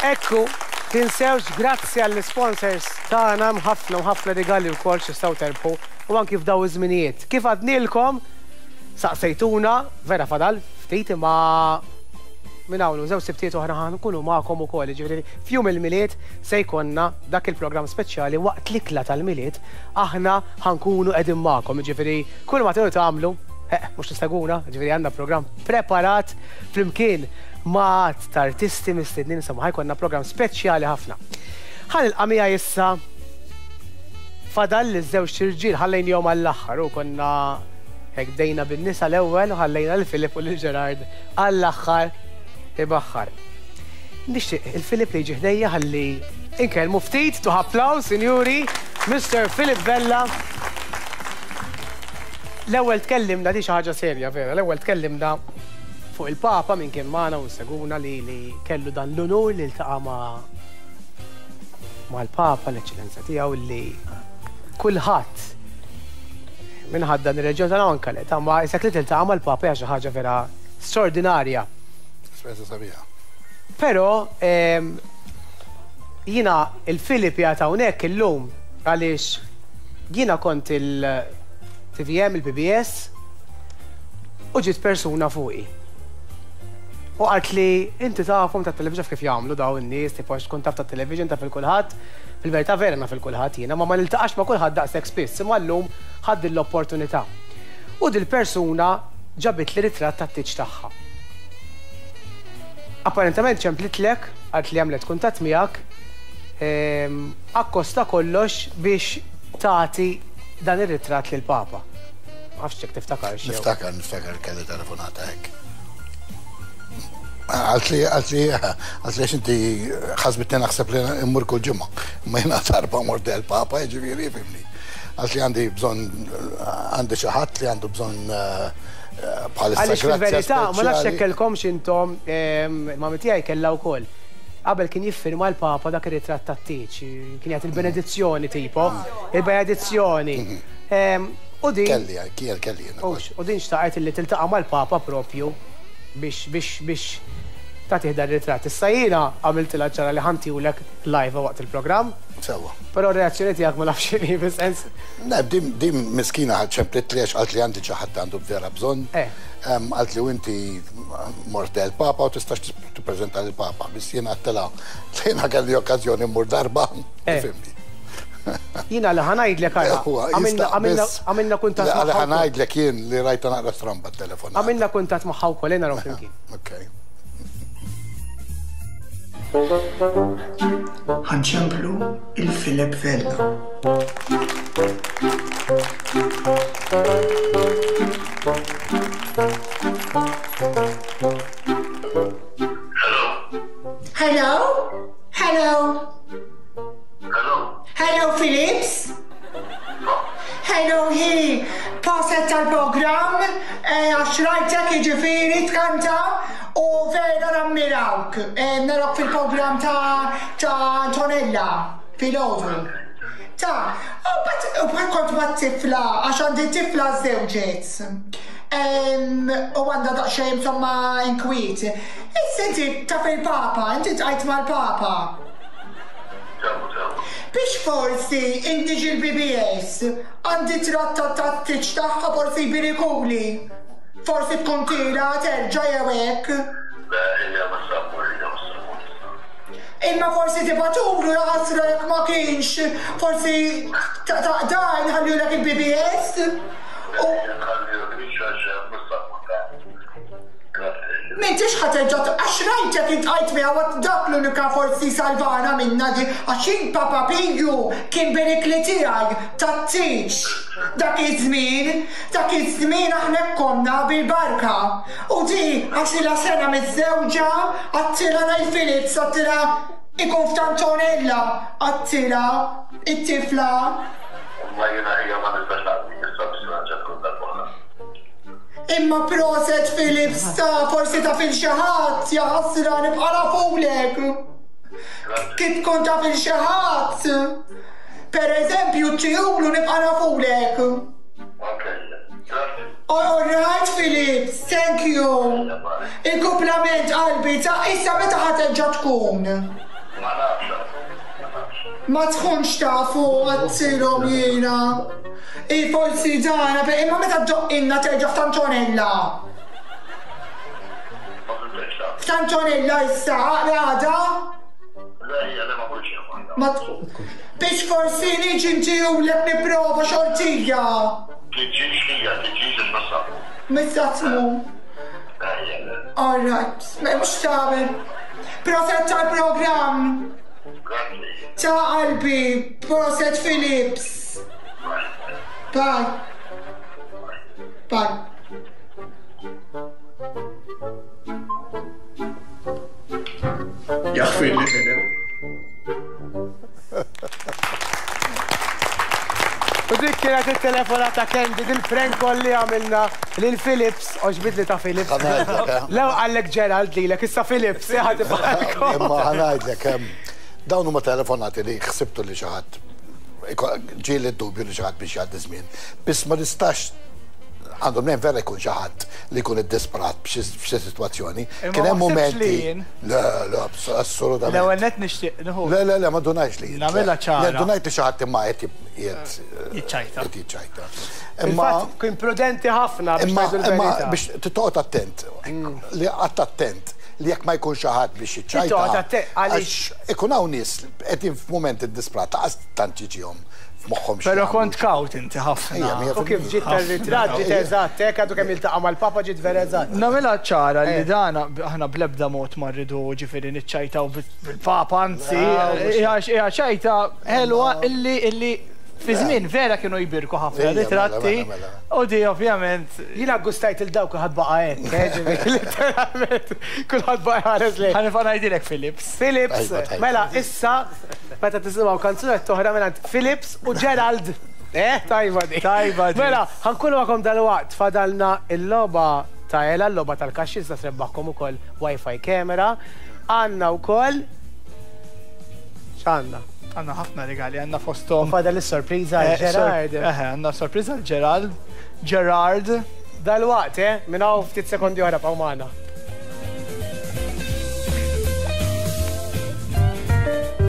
Ekku, tinsewx grazzi għall-isponsors tagħna hemm ħafna u ħafna rigali wkoll x'tistgħu terbħu u anki f'daw iż-żminijiet. Kif għadnielkom, saqsejtuna, vera fadal ftit imma minn hawn u żewġ sibtiet oħra ħa nkunu magħkom ukoll, jiġifieri f'jum il-Milied se jkollna dak il-programm speċjali waqt l-ikla tal-Milied aħna ħa nkunu qegħdin magħkom, jiġifieri kull ma tridu tagħmlu, eh, mhux tistaguna, jiġifieri għandna programm preparat flimkien ma' għadd ta' artisti mistednin, insomma ħa jkollna programm speċjali ħafna. Ħa nilqa' miegħi issa fadal li żewġ irġiel ħallejnihom għall-aħħar u konna hekk bdejna bin-nisa l-ewwel u ħallejna lil Filip u lil Gerard għall-aħħar ibaħħar. Nixtieq il-Filip li jiġi ħdejja ħalli inkellmu ftit, tuħ applaws, sinjuri, Mr. Philip Vella. L-ewwel tkellimna di xi ħaġa serja vera, l-ewwel tkellimna fuq il-Papa min kien magħna u seguna li li kellu dan l-unur li ltaqa' ma' mal-Papa l-Eċċellenza tiegħu li kulħadd minn ħaddan ir-reġjun tagħna anke le, ta' ma isek li tiltaqa' mal-Papa hija xi ħaġa vera straordinarja. Esperjenza sabiħa. Però ehm, jiena il-Filip qiegħed hawnhekk illum għaliex jiena kont il-TVM, il-PBS u ġiet persuna fuqi. U qalt li inti tafhom tat-television kif jagħmlu daw in-nies, tipo għax tkun taf tat-television taf il-kulħadd. Fil-verità vera naf il-kulħadd jiena, ma ma niltaqax ma' kulħadd daqshekk spiss, imma llum ħadt din l-opportunità. U dil-persuna ġabitli ritratt tat-tieġ tagħha. Apparentament ċemplitlek, qalt li għamlet kuntatt miegħek, ehm, akkost ta' kollox biex tagħti dan ir-ritratt lill-Papa. Ma nafx jekk tiftakarx. Jew. Niftakar, niftakar kelli telefonata hekk. Għalt li, għalt li, għalt li inti ħasbitni naħseb li immur kull ġimgħa. Ma jiena darba mort del-Papa, jiġifieri fimni. Għalt li għandi bżonn għandi xi ħadd li għandu bżonn eh, bħalissa. Għaliex fil-verità ma nafx jekk kellkomx intom, ehm, mami tiegħi kellha wkoll. Qabel kien jiffirma l-Papa dak ir-ritratt tat-tieġ, kien jagħti il-benedizzjoni tipo, il-benedizzjoni. Ehm, u din. Kelli, kiel kelli. U din xtaqet li tiltaqa' mal-Papa propju biex biex biex tagħtih dan ir-ritratt. Issa jiena għamiltilha ċara li ħa ntihulek live waqt il-programm. Sewwa. Però r-reazzjoni tiegħek ma nafx x'inhi fis-sens. Le, din din miskina ċemplitli għax qalt li għandi xi ħadd għandu vera bżonn. Eh. Qalt li u inti mort del Papa u tistax tippreżenta lil Papa. Biss jiena għedtilha li jiena kelli okkażjoni mmur darba. Eh. Fimni. Jiena li ħa ngħidlek ara. Huwa Għamilna jista' għamilna biss għamilna kuntatt li magħha ħa wkoll. ngħidlek jien li rajtha naqra stramba t-telefonata. Għamilna kuntatt magħha wkoll, ejja naraw flimkien. Okay. Ħa nċemplu 'il Philip Vella. Hello? Hello? Hello. Hello, Philips? Hello, hi! Proset tal-programm, eh, għax rajtek jiġifieri tkanta u vera nammirawk. Eh, narawk fil-programm ta' ta' Antonella filgħodu. Ta' u bat u bat kont ma' tifla għax għandi tifla żewġet. Em, U għandha daqsxejn insomma inkwiet. Issa inti taf il-Papa, inti tqajt mal-Papa. Biex forsi inti ġi l-BBS, għandi tratta tat-tieġ tagħha forsi jbirikuli. Forsi tkun tiela terġa' jew hekk. Le ejja mhux se mmur ejja mhux se mmur issa. Imma forsi tibgħatulu jaħasra jekk ma kienx, forsi ta' nħallulek il-BBS u. Ejja nħallilek għax mhux se mmur ta. Grazzi. M'intix ħa terġa' għax rajtek iltqajt miegħu għad dak l-unika forsi salvana minnha di għax jien Papa Piju kien berikli tiegħi tat-tieġ dak iż-żmien dak iż-żmien aħna hekk konna bil-barka u di għax ilha sena miżżewġa għadtilha ngħid Philips għadtilha ikun f'Tantonella għadtilha it-tifla. Imma jiena ħija ma nistax naqdi issa biex nerġa' tkun darb'oħra. Imma proset Philips ta forsi taf il xi ħadd jaħasra nibqa' nafulek. Kif tkun taf il xi ħadd. Per eżempju tijulu nibqa' nafulek. All right Philips, thank you. Il-kumplament qalbi ta' issa meta ħa terġa' tkun? Ma nafx, ma nafx. Ma tkunx tafu għattilhom jiena. I forsi dana, imma meta ddoqqilna terġa' f'Tantonella? Ma fhimtekx ta. F'Tantonella issa, għada? Le hija le ma kontx jien waħda. Ma Biex forsi niġi ntihulek nipprova xortija. Tiġix hija, tiġix għax ma sabu. Missa tmur. Le hija le. All right, m'hemmx x'tagħmel. Proset tal-programm. Grazzi. Ta' qalbi, proset Philips. Bye. Bye. Bye. Jaħfirli Philip. U dik kienet it-telefonata Candy dil-prank call li għamilna lil Philips, għoġbitni ta' Philips. Ħa ngħidlek, eh. Lew qallek Gerald lilek, issa Philips, eh, ħa tibqalkom. Imma ħa ngħidlek, ehm, dawn huma telefonati li ħsibtu li xi ħadd ġieli d-dubju li xi ħadd biex jgħaddi żmien. Biss ma nistax għandu mnejn vera jkun xi ħadd li jkun iddisprat b'xi sitwazzjoni. Kien hemm mumenti. Le, le, assolutament. L-ewwel nett nixtieq nieħu. Le, le, le, ma ndunajx li. Nagħmilha ċara. Le, ndunajt li xi ħadd imma qed jiċċajta. Qed jiċċajta. Imma kien prudenti ħafna biex ngħidu l-verità. Biex toqgħod attent, li qatt attent li jekk ma jkunx xi ħadd biex jiċċajta. Toqgħod attent għaliex ikun hawn nies qegħdin f'mument iddisprat laqas tant jiġihom f'moħħhom xi. Però kont kawt inti ħafna. U kif ġiet tar-ritratt ġiet eżatt, hekk għadu kemm iltaqa' mal-Papa ġiet vera eżatt. Nagħmilha ċara li dan aħna bl-ebda mod ma rridu ġifieri niċċajtaw bil-Papa, anzi, hija ċajta ħelwa illi illi fi żmien vera kienu jbierku ħafna ritratti u di ovvjament. Jiena ggustajt il dawk kulħadd baqa' hekk, eh, ġifieri litteralment kulħadd baqa' jħares lejh. Ħa nibqa' ngħidilek Philips. Philips, mela issa meta tisimgħu kanzunetta oħra mingħand Philips u Gerald. Eh, tajba di. Tajba di. Mela, ħa nkunu magħkom dalwaqt fadalna l-logħba ta' Ela, l-logħba tal-kaxxi tista' trebbaħkom ukoll Wi-Fi camera. Għandna wkoll x'għandna? Għandna ħafna rigali, għandna fosthom. U fadal is-sorpriża għal Gerard. Eħe, għandna sorpriża għal Gerald. Gerard. Dalwaqt, eh? Minn hawn ftit sekondi oħra bqgħu magħna.